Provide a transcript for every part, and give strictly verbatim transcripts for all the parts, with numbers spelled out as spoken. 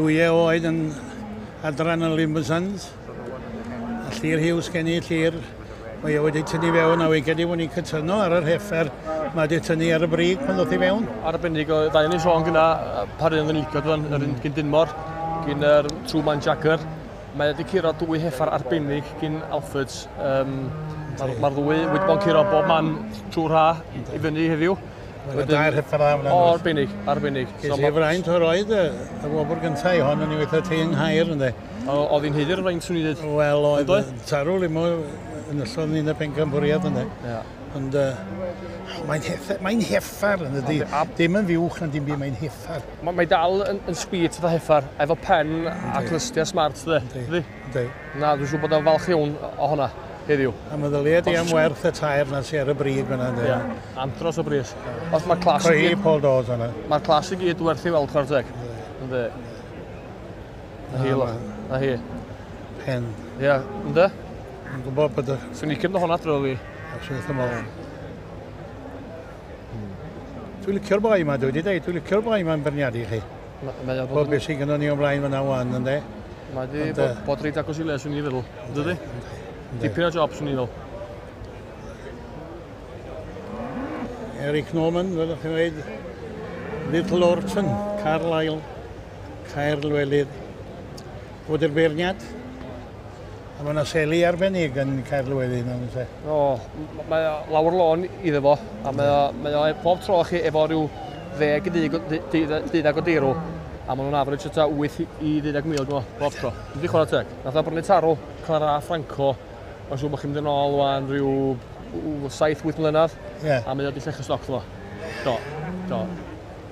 Dwy oed yn adran y Limousins. A Llyr Hughes gen i, Llyr. Mae e wedi tynnu fewn a wedi gen i fod ni'n cytuno ar yr heffer. Mae wedi tynnu ar y brig pan ddoth i fewn. Arbennig o ddau ni sôn gyna par un yn licio dwi'n yr un gyn Dinmor, gyn yr Truman Jagger. Mae wedi curo dwy heffar arbennig gyn Alfords. Um, Mae'r ma ddwy wedi bod yn curo bob man trwy'r ha i fyny heddiw. Mae'n dair heffar dda fyna. O, arbennig, arbennig. Ges i fraint o'r oed y, y wobr gyntaf i hon yn ei weithio ti yng Nghaer, ynddi. Oedd hi'n haeddu'r fraint swn i ddweud. Wel, oedd tarw limo yn ystod ni'n y pencampwriaeth, ynddi. Yeah. Ond uh, mae'n heffer, mae'n heffar, yn dydi. Dim yn fuwch na dim byd, mae'n heffar. Mae, mae dal yn, yn speed fatha heffar, efo pen a clystiau smart, dydi. Yndi. Na, dwi'n siŵr bod o'n falch iawn o hwnna heddiw. A meddylia di am werth y tair na sy ar y brig fyna, yndi. Ie, andros o bris. Os mae'r clas i gyd... Paul Dawes yna. Mae'r clas i gyd werth i weld, chwarae teg. Yndi. Na hi, loch. Na hi. Pen. Ie, yndi? Dwi'n gwybod bod y... Swn i'n cymryd hwnna drwy fi. Absolutely ymlaen. Dwi'n licio'r boi yma, dwi wedi dweud, dwi'n licio'r boi yma'n berniadu chi. Mae o bod beth sydd gynnon ni o blaen fyna wan, ynddi? Mae wedi bod reit agos i le, swn i'n feddwl, dydy? Dipyn o job, swn i'n feddwl. Eric Norman, fel ydych chi'n dweud, Little Orton, Carlisle, Caer Llewelydd. Fod i'r beirniad. A mae yna seli arbennig yn Caer Llewelydd, yna, yna. O, mae o lawr lôn iddo fo, a mae o, mae o pob tro chi efo rhyw ddeg i deuddeg o deirw, a maen nhw'n average o tua wyth i ddeuddeg mil, dwi'n meddwl, bob tro. Dwi'n di chwarae teg. Nath o brynu tarw, Clara Franco, mae'n siŵr bod chi'n mynd yn ôl wan rhyw saith wyth mlynedd, yeah. A mae o di llechu stoc fo. Do, do.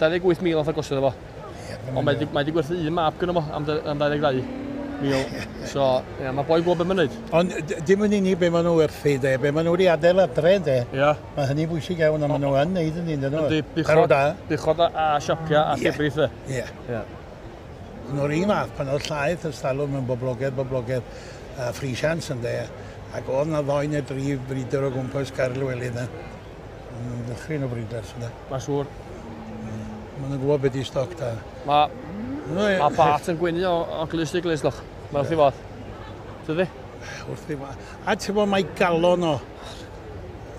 dau ddeg wyth mil nath o gostio fo. Yeah, ond mae wedi gwerthu un map gyda fo am dau ddeg dau mil. So, yeah, mae boi gwybod beth mae'n neud. Ond dim yn unig be maen nhw werthu, de, be maen nhw wedi adael adre, de. Yeah. Mae hynny bwysig iawn, a maen nhw yn neud yn un, dyn nhw. Yndi, buchod, buchod a, a siapia a llefrith, de. Ie. Ie. Yn o'r un fath, pan oedd llaeth y stalwm yn boblogaidd, boblogaidd, a free chance yn de, ac oedd na ddoi neu dri brider o gwmpas Caer Llewelydd na. Yn ddychryn o briders yna. Mae'n siŵr. Maen nhw'n gwybod beth i stoc da. Mae ma Bart yn gwenu o, o glust i glust, loch. Mae wrth i fodd. Tydi? Wrth i fodd. A ti'n bod, mae galon o.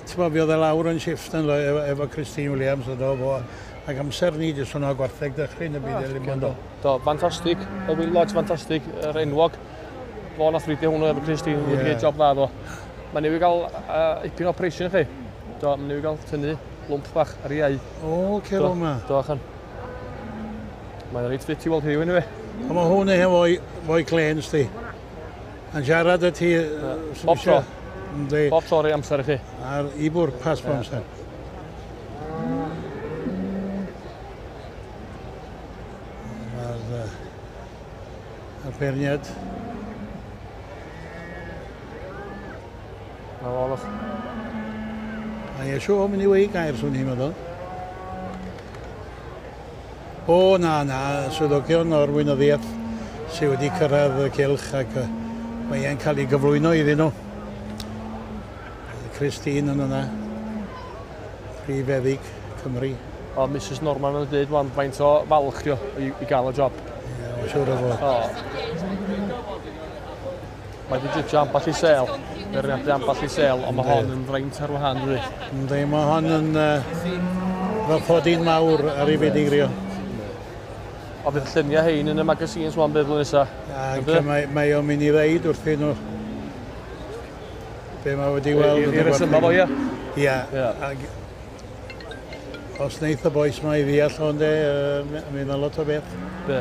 Ti'n bod, fi oedd e lawr yn Shifton efo, efo Christine Williams o do fo. Ac amser ni jyst hwnna gwartheg dychryn y byd e Do, do, ffantastig. Y Will Lodge ffantastig, yr enwog. Fo nath fridio hwnnw efo Christine, yeah. Wedi gwneud job dda fo. Mae newydd gael uh, ipyn o operation i chi. Do, mae newydd gael tynnu lwmp bach ar ei iau. O, cer o ma. Do, achan. Mae'n reit ffit i weld heddiw, anyway. A mae hwn eich fwy, fwy clen, sti. Yn siarad y ti... Bob tro. Bob tro rei amser i chi. Ar i bwrpas bob amser. Mae'r uh, beirniad. Na fo, loch. Mae eisiau o'n mynd i wei gair, swn i'n meddwl. O, na, na, swyddogion o'r weinyddiaeth sydd wedi cyrraedd y cylch ac uh, mae e'n cael ei gyflwyno iddyn nhw. Christine yn yna, prif feddyg Cymru. O, Missus Norman yn dweud wan, faint o falch dio i, i gael y job. Ie, yeah, siŵr o fod. O. Mae wedi jytio ambell i sel, beirniadu ambell i sel, ond mae hon yn fraint ar wahân, dydi? Yndi, mae hon yn uh, fel fodyn mawr ar ei fedigrio. O, fydd lluniau hein yn y magazines wan bydd blwyddyn nesaf. Ac mae, mae o'n mynd i ddeud wrthyn nhw be mae wedi weld. I resymau fo, ie? Ie, ac os wneith y bois ma i ddeall o'n de, mi yna lot o beth. Be?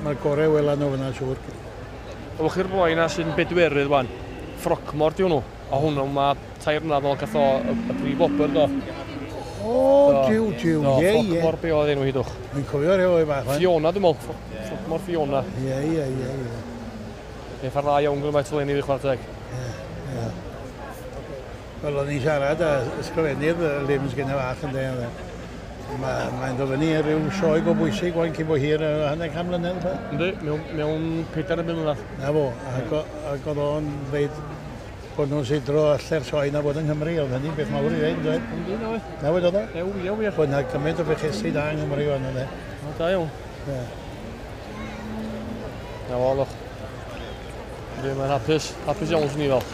Mae'r gorau wela nhw fyna, siŵr. Ewch chi'r boi na sy'n bedwerydd wan, Frogmore di hwnnw. A hwnnw mae tair mlynedd ôl gath o y, y prif wobr do. O, jiw, jiw, ie, ie. Frogmore be oedd enw hi dwch. Dwi'n cofio rhyw o'i bach. Fiona, dwi'n meddwl. Frogmore Fiona. Ie, ie, ie, ie. Peth ar dda iawn gyda mae eleni fi chwarae teg. Ie, ie. Wel, o'n i'n siarad â ysgrifennydd y Lims gyda fach yn dweud. Mae'n mae dod fyny i ryw sioe go bwysig wan cyn bo hir hanner can mlynedd. Yndi, mewn, mewn pedair mlynedd. Na fo, ac, ac oedd o'n dweud bod nhw'n sidro allu'r sioe na bod yng Nghymru, oedd hynny'n beth mawr i ddeud, dweud. Yndi, na we. Na we, dod o? Ew, ie, wir. Bod yna gymaint o fechesi da yng Nghymru fan yna. O, da iawn. Ie. Na fo, lwch. Yndi, mae'n hapus. Hapus iawn swn i fel.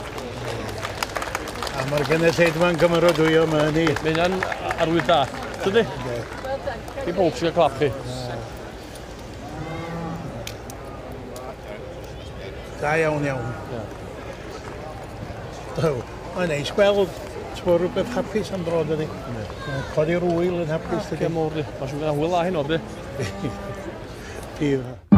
A mae'r gynulleidfa'n gymeradwyo, mae hynny. Mae hynna'n arwydd da. Dydy? Dim pob sy'n cael clap chi. Da iawn iawn. Ie. Mae'n neis gweld ti'n rhywbeth hapus am dro, dydy. Mae'n codi'r wyl yn hapus, dydy. Ie, mowr, di. Mae'n siŵr bod hwyl dda heno, dydy. Bydd.